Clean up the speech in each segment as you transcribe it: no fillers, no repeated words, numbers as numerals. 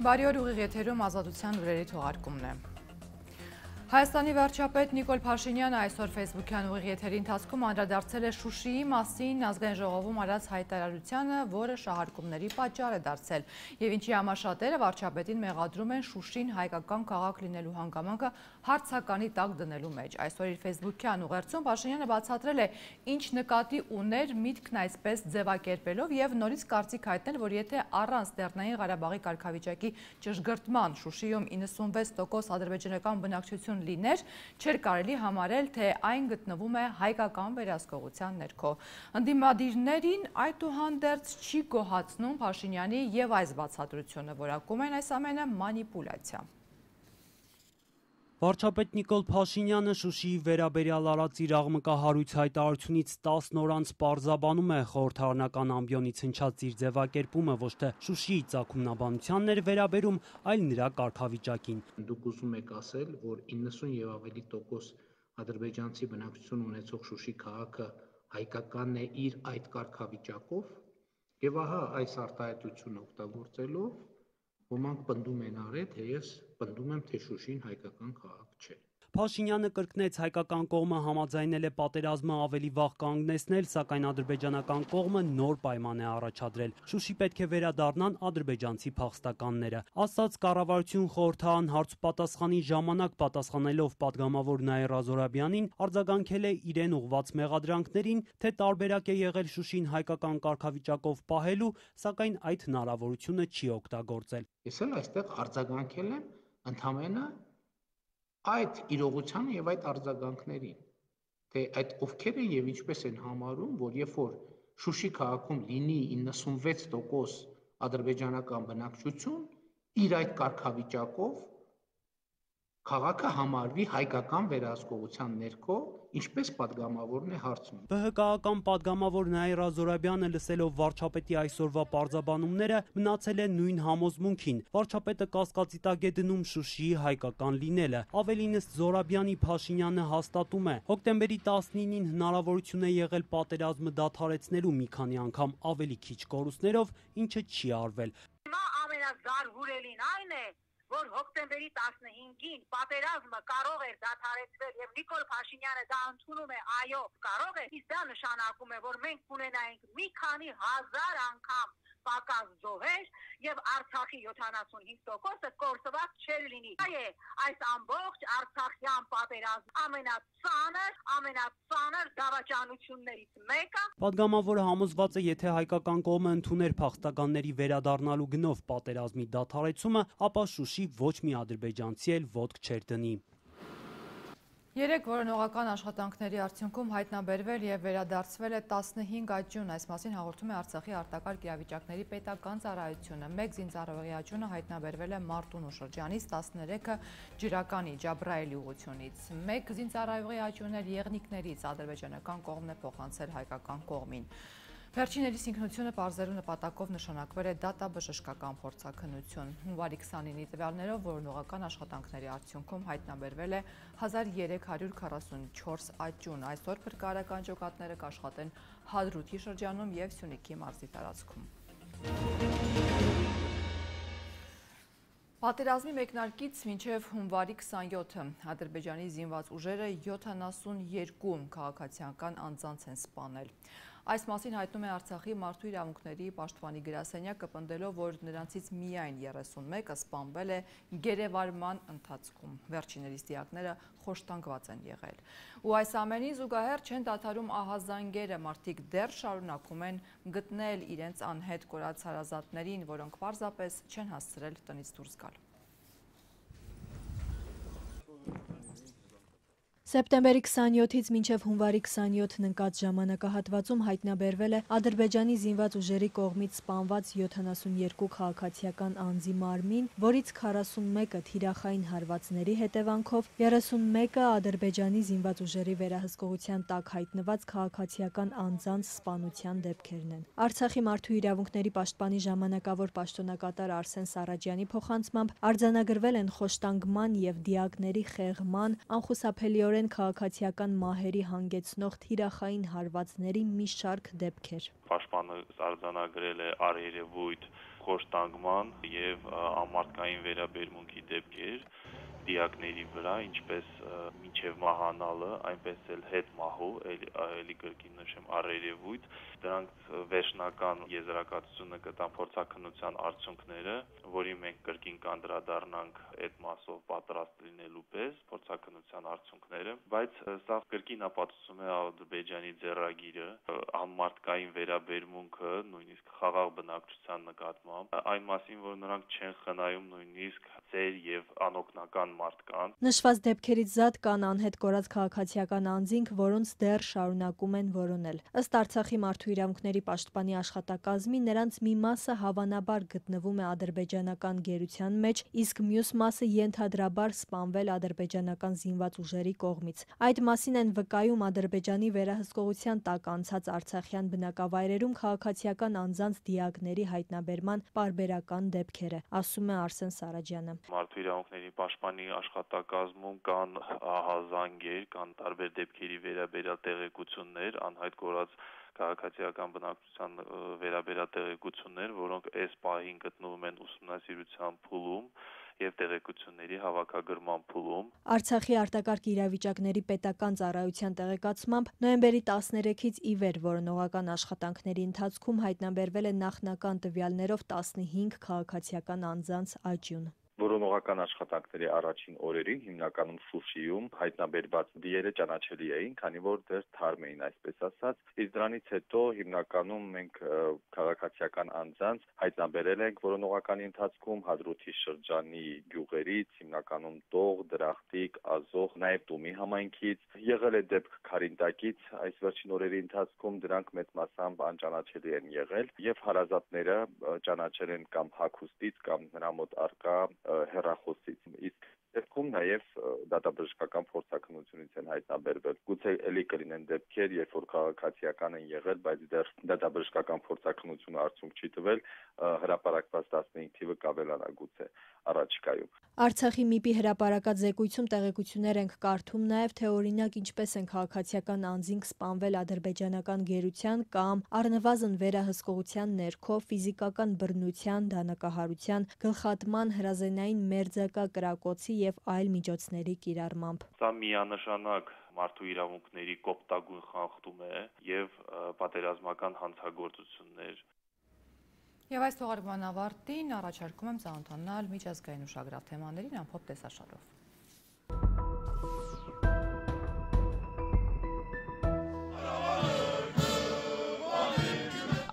Բարի օր, ուղիղ եթերում Ազատության լուրերի թողարկումն է։ Հայաստանի վարչապետ Նիկոլ Փաշինյանը այսօր Facebook-յան ուղիղ եթերի ընթացքում անդրադարձել է Շուշիի մասին ազգային ժողովում արած հայտարարությանը, որը շահարկումների պատճառ է դարձել, եւ ինչի համար շատերը վարչապետին մեղադրում են Շուշին հայկական քաղաք լինելու հանգամանքը հարցականի տակ դնելու մեջ։ Այսօր իր Facebook-յան ուղերձում Փաշինյանը բացատրել է, ինչ նկատի ուներ միտքն այսպես ձևակերպելով եւ նորից կարծիք հայտնել, որ եթե առանց Լեռնային Ղարաբաղի կարգավիճակի ճշգրտման Շուշիում 96% ադրբեջանական բնակչություն լիներ, չէր կարելի համարել, թե այն գտնվում է հայկական վերահսկողության ներքո։ Ընդդիմադիրներին այդուհանդերձ չի գոհացնում Փաշինյանի եւ այս բացատրությունը, որակում են այս ամենը մանիպուլյացիա։ Վարչապետ Նիկոլ Փաշինյանը Շուշիի վերաբերյալ արած իր աղմկահարույց հայտարարությունից 10 օր անց պարզաբանում է խորհրդարանական ամբիոնից հնչած իր ձևակերպումը ոչ թե Շուշիի ծագումնաբանությանն էր վերաբերում, այլ նրա կարգավիճակին։ Դուք ուզում եք ասել, որ 90 եւ ավելի տոկոս ադրբեջանցի բնակչություն ունեցող Շուշի քաղաքը հայկականն է իր այդ կարգավիճակով, եւ ահա այս արտահայտությունը օգտագործելով ոմանք պնդում են արել, թե ես պնդում եմ, թե Շուշին հայկական քաղաք չէ։ Փաշինյանը կրկնեց, հայկական կողմը համաձայնել է պատերազմը ավելի վաղ կանգնեցնել, սակայն ադրբեջանական կողմը նոր պայման է առաջադրել։ Շուշի պետք է վերադառնան ադրբեջանցի փախստականները։ Ասաց կառավարություն խորհրդարան հարցուպատասխանի ժամանակ պատասխանելով падգամավոր Նաիրա Զորաբյանին, արձագանքել է իրեն ուղված մեղադրանքներին, թե տարբերակ է եղել Շուշին հայկական կարգավիճակով պահելու, սակայն այդ հնարավորությունը չի օգտագործել։ Ես էլ այստեղ արձագանքել եմ ընդհանրապես այդ իրողությանը եւ այդ արձագանքներին, թե այդ ովքեր են եւ ինչպես են համարում, որ երբ որ Շուշի քաղաքում լինի 96% ադրբեջանական բնակչություն, իր այդ կարգավիճակով քաղաքը համարվի հայկական վերահսկողության ներքո, ինչպես падգամավորն է հարցնում։ ԲՀԿ-ական падգամավոր Նաիրա Զորաբյանը լսելով վարչապետի այսօրվա պարզաբանումները մնացել է նույն համոզմունքին։ Վարչապետը կասկածի տակ է դնում Շուշիի հայկական լինելը։ Ավելինս Զորաբյանի Փաշինյանը հաստատում է, հոկտեմբերի 19-ին հնարավորություն է եղել պատերազմը դադարեցնելու մի քանի անգամ ավելի քիչ կորուստներով, ինչը չի արվել։ Հիմա ամենազարհուրելին այն է, որ հոկտեմբերի 15-ին պատերազմը կարող էր դադարեցվել եւ Նիկոլ Փաշինյանը դա ընդունում է, այո, կարող է, իսկ դա նշանակում է, որ մենք կունենայինք մի քանի հազար անգամ պակաս զոհեր եւ Արցախի 75%-ը կորսված չէր լինի։ Այս ամբողջ արցախյան պատերազմի ամենածանր դավաճանություններից մեկը։ Պատգամավորը համոզված է, եթե հայկական կողմը ընդուներ փախստականների վերադառնալու գնով պատերազմի դադարեցումը, ապա Շուշի ոչ մի ադրբեջանցի էլ ոտք չէր դնի։ Երեք որոնողական աշխատանքների արդյունքում հայտնաբերվել եւ վերադարձվել է 15 աճյուն, այս մասին հաղորդում է Արցախի արտակարգ իրավիճակների պետական ծառայությունը։ Մեկ զինծառայողի աճյունը հայտնաբերվել է Մարտունու շրջանից, 13-ը Ջրականի Ջաբրայելի ուղությունից։ Մեկ զինծառայողի աճյունը Եղնիկներից ադրբեջանական կողմն է փոխանցել հայկական կողմին։ Վերջիներիս ինքնությունը պարզելու նպատակով նշանակվել է դատաբժշկական փորձաքննություն։ Հունվարի 29-ի տվյալներով որոնողական աշխատանքների արդյունքում հայտնաբերվել է 1344 աճյուն։ Այսօր փրկարարական ջոկատները կաշխատեն Հադրութի շրջանում եւ Սյունիքի մարզի տարածքում։ Պատերազմի մեկնարկից մինչև հունվարի 27-ը Ադրբեջանի զինված ուժերը 72 քաղաքացիական անձանց են սպանել։ Այս մասին հայտնում է Արցախի մարդու իրավունքների պաշտպանի գրասենյակը, պնդելով, որ նրանցից միայն 31-ը սպանվել է գերեվարման ընթացքում։ Վերջիներիս դիակները խոշտանգված են եղել։ Ու այս ամենին զուգահեռ չեն դադարում ահազանգերը, մարդիկ դեռ շարունակում են գտնել իրենց անհետ կորած հարազատներին, որոնք պարզապես չեն հասցրել տնից դուրս գալ։ Սեպտեմբերի 27-ից մինչև հունվարի 27-ն ընկած ժամանակահատվածում հայտնաբերվել է Ադրբեջանի զինված ուժերի կողմից սպանված 72 քաղաքացիական անձի մարմին, որից 41-ը թիրախային հարվածների հետևանքով, 31-ը Ադրբեջանի զինված ուժերի վերահսկողության տակ հայտնված քաղաքացիական անձանց սպանության դեպքերն են։ Արցախի մարդու իրավունքների պաշտպանի ժամանակավոր պաշտոնակատար Արսեն Սարաջյանի փոխանցմամբ արձանագրվել են խոշտանգման եւ դիակների խեղման, անխուսափելիորեն են քաղաքացիական մահերի հանգեցնող թիրախային հարվածների մի շարք դեպքեր։ Պաշտպանը արձանագրել է առերևույթ խոշտանգման եւ ամարտկային վերաբերմունքի դեպքեր դիակների վրա, ինչպես մինչև մահանալը, այնպես էլ հետ մահու, էլի կրկին նշեմ առերևույթ, դրանք վերջնական եզրակացությունը կտան փորձաքննության արդյունքները, որի մենք կրկին կանդրադառնանք այդ մասով պատրաստ լինելու պես փորձաքննության արդյունքները, բայց սա կրկին ապացուցում է Ադրբեջանի ձեռագիրը, ամարտկային վերաբերմունքը, նույնիսկ խաղաղ բնակչության նկատմամբ, այն մասին, որ նրանք չեն խնայում նույնիսկ ծեր եւ անօգնական մարդկանց։ Նշված դեպքերից զատ կան անհետ կորած քաղաքացիական անձինք, որոնց դեռ շարունակում են որոնել։ Ըստ Արցախի մարդու իրավունքների պաշտպանի աշխատակազմի, նրանց մի մասը հավանաբար գտնվում է ադրբեջանական գերության մեջ, իսկ մյուս մասը ենթադրաբար սպանվել ադրբեջանական զինված ուժերի կողմից։ Այդ մասին են վկայում Ադրբեջանի վերահսկողության տակ անցած արցախյան բնակավայրերում քաղաքացիական անձանց դիակների հայտնաբերման պարբերական դեպքերը, ասում է Արսեն Սարաջյանը։ Մարդու իրավունքների պաշտպանի աշխատակազմում կան ահազանգեր, կան տարբեր դեպքերի վերաբերյալ տեղեկություններ, անհայտ կորած քաղաքացիական բնակչության վերաբերյալ տեղեկություններ, որոնք այս պահին գտնվում են ուսումնասիրության փուլում եւ տեղեկությունների հավաքագրման փուլում։ Արցախի արտակարգ իրավիճակների պետական ծառայության տեղեկացմամբ նոյեմբերի 13-ից ի վեր որոնողական աշխատանքների ընթացքում հայտնաբերվել է նախնական տվյալներով 15 քաղաքացիական անձանց աճյուն։ Որոնողական աշխատանքների առաջին օրերին հիմնականում Շուշիում հայտնաբերված դիերը ճանաչելի էին, քանի որ դեռ թարմ էին, այսպես ասած, իսկ դրանից հետո հիմնականում մենք քաղաքացիական անձանց հայտնաբերել ենք որոնողականի ընթացքում Հադրութի շրջանի գյուղերից, հիմնականում Տող, Դրախտիկ, Ազող, նաև Տումի համայնքից, եղել է դեպք Քարինտակից, այս վերջին օրերի ընթացքում դրանք մեծ մասամբ անճանաչելի են եղել եւ հարազատները ճանաչել են կամ հագուստից կամ նրա մոտ առկա հեռախոսից, իսկ դեպքում նաև դատաբժշկական փորձաքննությունից են հայտնաբերվել։ Գուցե էլի կլինեն դեպքեր, երբ որ քաղաքացիական են եղել, բայց դեռ դատաբժշկական փորձաքննությունը արդյունք չի տվել, հրապարակված 15 թիվը կավելանա գուցե առաջիկայում։ Արցախի ՄԻՊ-ի հրապարակած զեկույցում տեղեկություններ ենք կարդում նաև, թե օրինակ ինչպես են քաղաքացիական անձինք սպանվել ադրբեջանական գերության կամ առնվազն վերահսկողության ներքո ֆիզիկական բռնության, դանակահարության, գլխատման, հրազենային մերձակա կրակոցի եւ այլ միջոցների կիրառմամբ։ Սա միանշանակ մարդու իրավունքների կոպտագույն խախտում է եւ պատերազմական հանցագործություններ։ Եվ այս թողարկման ավարտին առաջարկում եմ ծանոթանալ միջազգային ուշագրավ թեմաներին ամփոփ տեսաշարով։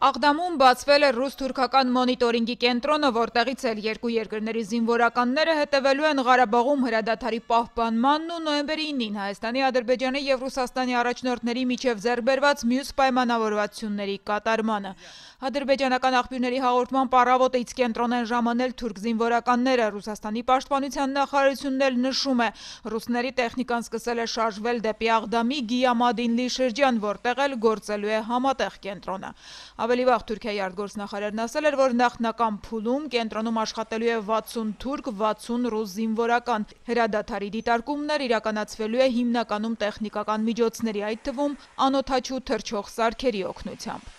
Աղդամում բացվել է ռուս-թուրքական մոնիտորինգի կենտրոնը, որտեղից էլ երկու երկրների զինվորականները հետևելու են Ղարաբաղում հրադադարի պահպանմանն ու նոյեմբերի 9-ին Հայաստանի, Ադրբեջանի եւ Ռուսաստանի առաջնորդների միջև ձեռքբերված մյուս պայմանավորվածությունների կատարմանը։ Ադրբեջանական աղբյուրների հաղորդմամբ առավոտից կենտրոն են ժամանել թուրք զինվորականները։ Ռուսաստանի պաշտպանության նախարարությունն էլ նշում է, ռուսների տեխնիկան սկսել է շարժվել դեպի Աղդամի Գիամադինլի շրջան, որտեղ էլ գործելու է համատեղ կենտրոնը։ Ավելի վաղ Թուրքիայի արտգործնախարարն ասել էր, որ նախնական փուլում կենտրոնում աշխատելու է 60 թուրք, 60 ռուս զինվորական։ Հրադադարի դիտարկումներ իրականացվելու է հիմնականում տեխնիկական միջոցների, այդ թվում անօդաչու թռչող սարքերի օգնությամբ։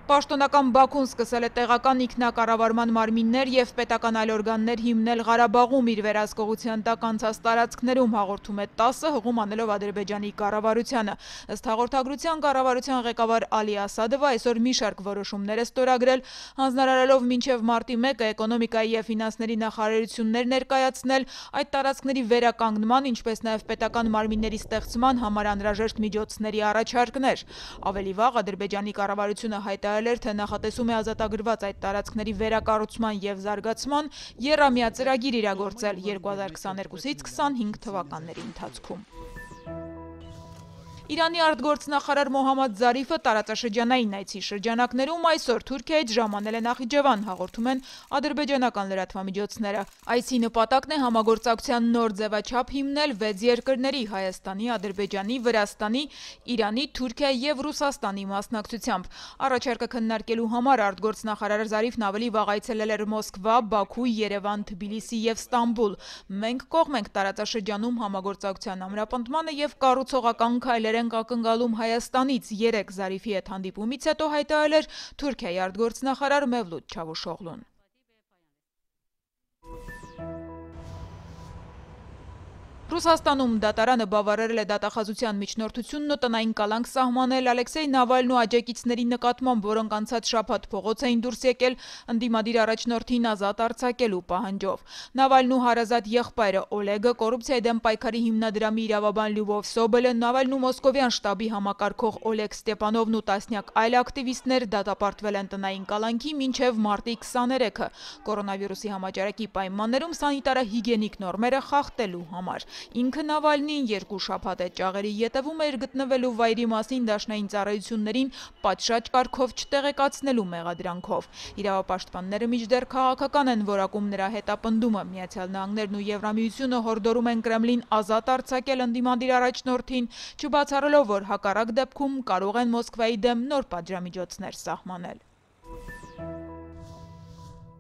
Պաշտոնական Բաքուն սկսել է տեղական ինքնակառավարման մարմիններ եւ պետական այլ օրգաններ հիմնել Ղարաբաղում իր վերահսկողության տակ անցած տարածքներում, հաղորդում է ՏԱՍՍ-ը, հղում անելով Ադրբեջանի կառավարությանը։ Ըստ հաղորդագրության կառավարության ղեկավար Ալի Ասադովը այսօր մի շարք որոշումներ է ստորագրել, հանձնարարելով մինչև մարտի 1-ը էկոնոմիկայի եւ ֆինանսների նախարարություններ ներկայացնել այդ տարածքների վերականգնման, ինչպես նաեւ պետական մարմինների ստեղծման համար անհրաժեշտ միջոցների առաջարկներ։ Ավելի վաղ Ադրբեջանի կառավարությունը հայտարարել էր, թե նախատեսում է ազատագրված այդ տարածքների վերակառուցման եւ զարգացման եռամյա ծրագիր իրագործել 2022-ից 25 թվականների ընթացքում։ Իրանի արտգործնախարար Մոհամմադ Զարիֆը տարածաշրջանային այցի շրջանակներում այսօր Թուրքիայից ժամանել է Նախիջևան, հաղորդում են ադրբեջանական լրատվամիջոցները։ Այցի նպատակն է համագործակցության նոր ձևաչափ հիմնել 6 երկրների՝ Հայաստանի, Ադրբեջանի, Վրաստանի, Իրանի, Թուրքիայի և Ռուսաստանի մասնակցությամբ։ Առաջարկը քննարկելու համար արտգործնախարար Զարիֆն ավելի վաղ այցելել էր Մոսկվա, Բաքու, Երևան, Թբիլիսի և Ստամբուլ։ Մենք կողմ ենք տարածաշրջանում համագործակցության ամրապնդմանը և կառուցողական քայլեր ենք ակնկալում Հայաստանից, 3 Զարիֆի հետ հանդիպումից հետո հայտարարել էր Թուրքիայի արտգործնախարար Մևլութ Չավուշօղլուն։ Ռուսաստանում դատարանը բավարարել է դատախազության միջնորդությունն ու տնային կալանք սահմանել Ալեքսեյ Նավալնու աջակիցների նկատմամբ, որոնք անցած շաբաթ փողոց էին դուրս եկել ընդդիմադիր առաջնորդին ազատ արձակելու պահանջով։ Նավալնու հարազատ եղբայրը Օլեգը, կոռուպցիայի դեմ պայքարի հիմնադրամի իրավաբան Լյուբով Սոբելը, Նավալնու մոսկովյան շտաբի համակարգող Օլեգ Ստեպանովն ու տասնյակ այլ ակտիվիստներ դատապարտվել են տնային կալանքի մինչև մարտի 23-ը կորոնավիրուսի համաճարակի պայմաններում սանիտարահիգիենիկ նորմերը խախտելու համար։ Ինքը Նավալնին 2 շաբաթ է ճաղերի ետևում էր գտնվելու վայրի մասին դաշնային ծառայություններին պատշաճ կարգով չտեղեկացնելու մեղադրանքով։ Իրավապաշտպանները մինչդեռ քաղաքական են որակում նրա հետապնդումը։ Միացյալ Նահանգներն ու Եվրամիությունը հորդորում են Կրեմլին ազատ արձակել ընդդիմադիր առաջնորդին, չբացառելով, որ հակառակ դեպքում կարող են Մոսկվայի դեմ նոր պատժամիջոցներ սահմանել։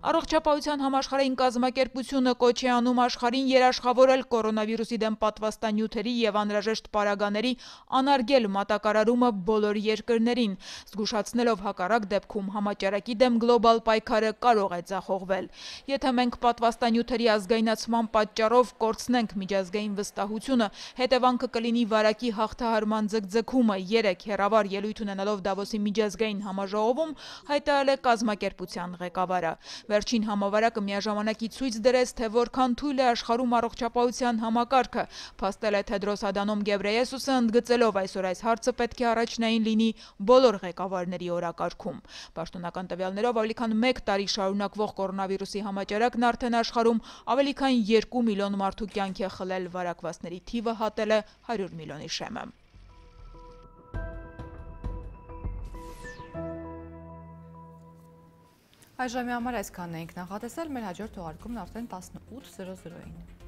Առողջապահության համաշխարհային կազմակերպությունը կոչ է անում աշխարհին երաշխավորել կորոնավիրուսի դեմ պատվաստանյութերի և անհրաժեշտ պարագաների անարգել մատակարարումը բոլոր երկրներին, զգուշացնելով հակառակ դեպքում համաճարակի դեմ գլոբալ պայքարը կարող է ձախողվել։ Եթե մենք պատվաստանյութերի ազգայնացման պատճառով կորցնենք միջազգային վստահությունը, հետևանքը կլինի վարակի հաղթահարման ձգձգումը, 3 հեռավար ելույթ ունենալով Դավոսի միջազգային համաժողովում հայտարարել է կազմակերպության ղեկավարը։ Վերջին համավարակը միաժամանակի ցույց դրեց, թե որքան թույլ է աշխարհում առողջապահության համակարգը, փաստել է Թեդրոս Ադանոմ Գեբրեյեսուսը, ընդգծելով այսօր այս հարցը պետք է առաջնային լինի բոլոր ղեկավարների օրակարգում։ Պաշտոնական տվյալներով ավելի քան 1 տարի շարունակվող կորոնավիրուսի համաճարակն արդեն աշխարհում ավելի քան 2 միլիոն մարդու կյանք է խլել, վարակվածների թիվը հատել է 100 միլիոնի շեմը։ Այժմի համար այսքանն էինք նախատեսել, մեր հաջորդ թողարկումն արդեն 18:00-ին։